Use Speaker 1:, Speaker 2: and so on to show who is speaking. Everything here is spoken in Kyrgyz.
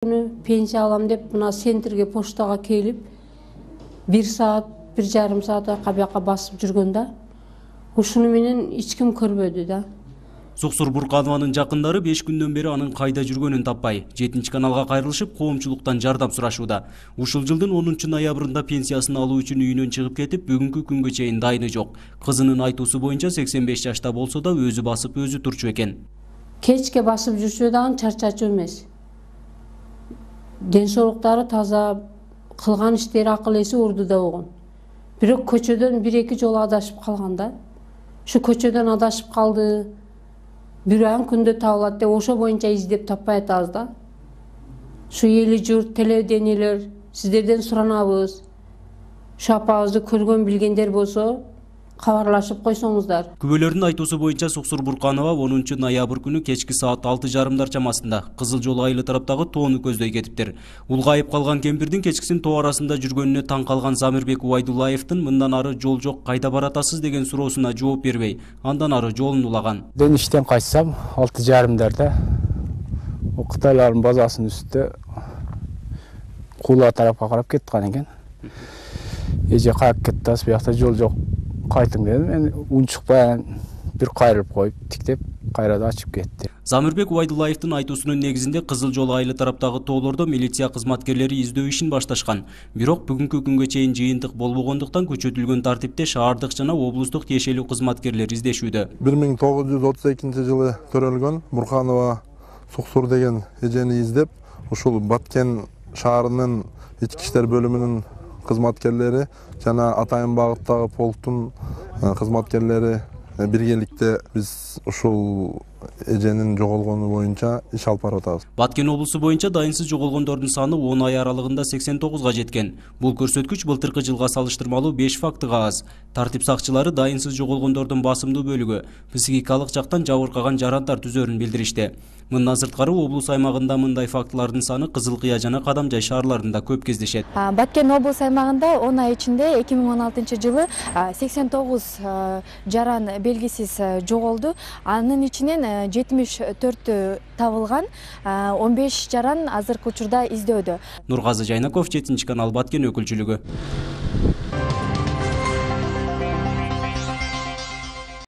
Speaker 1: Пенсия алам деп мына центрге поштага келип 1 саат 1,5 саат бияка басып жүргөндө ушуну менен эч ким көрбөдү да.
Speaker 2: Суксур Бурканованын жакындары 5 күндөн бери анын кайда жүргөнүн таппай, 7-каналга кайрылышып, коомчулуктан жардам сурашууда. Ушул жылдын 10 ноябрында пенсиясын алуу үчүн үйүнөн чыгып кетип, бүгүнкү күнгө чейин дайыны жок. Кызынын айтуусу боюнча 85 жашта болсо да өзү басып, өзү турчу экен.
Speaker 1: Кечке басып жүрчү дагы чарчачу эмес. Ден соолуктары таза, кылган иштери акыл эси ордуда болгон. Бирок көчөдөн 1-2 жолу адашып калган да. Ушу көчөдөн адашып калды. Бирөөн күндө табылат деп ошо боюнча издеп таппай атабыз да. Ушу эли журт, телевидениелер сиздерден суранабыз. Ушу апабызды көргөн билгендер болсо кабарлашып койсоңуздар.
Speaker 2: Күбөлөрдүн айтуусу боюнча Суксур Бурканова 10 ноябрь күнү кечки саат 6:30 чамасында Кызыл Жол айылы тараптагы тоону көздөй кетиптир. Улгайып калган кемпирдин кечкисин тоо арасында жүргөнүнө таң калган Замирбек Убайдуллаевдин мындан ары жол жок, кайда баратасыз деген суроосуна жооп бербей, андан ары жолун улаган.
Speaker 3: Ден иштен кайтсам 6:30 Кытайлардын базасынын үстүндө Куула тарапка карап кеткан экен. Эже каяк кеттиз, биякта жол жок. Кайтың дедим, мен унчукпай бир кайрылып коюп, тиктеп, кайрада ачып кетти.
Speaker 2: Замирбек Убайдуллаевдин айтуусунун негизинде Кызыл Жол айылы тараптагы тоолордо милиция кызматкерлери издөө ишин башташкан. Бирок бүгүнкү күнгө чейин жыйынтык болбогондуктан күчөтүлгөн тартипте шаардык жана облустук тиешелүү кызматкерлер издешүүдө.
Speaker 4: 1932 жылы төрөлгөн Бурканова Суксур деген эжени издеп, ушул Баткен шаарынын ички иштер бөлүмүнүн кызматкерлери жана Атайын багыттагы полктун кызматкерлери биргеликте биз ушул эженин жоголгону боюнча иш алып барып атабыз.
Speaker 2: Баткен облусу боюнча дайынсыз жоголгондордун саны 10 ай аралыгында 89 жеткен. Бул көрсөткүч былтыркы жылга салыштырмалуу 5 фактыга аз. Тартип сакчылары дайынсыз жоголгондордун басымдуу бөлүгү психикалык жактан жабыркаган жарандар түзөрүн билдиришти. Мындан сырткары облус аймагында мындай фактылардын саны Кызыл Кыя жана Кадамжай шаарларында көп кездешет.
Speaker 5: Баткен облус аймагында 10 ай ичинде 2016 жылы 89 жаран белгисиз жоголду. Анын ичинен 74 табылган, 15 жаран азыркы учурда издөөдө.
Speaker 2: Нургазы Жайнаков, 7 канал, Баткен өкүлчүлүгү.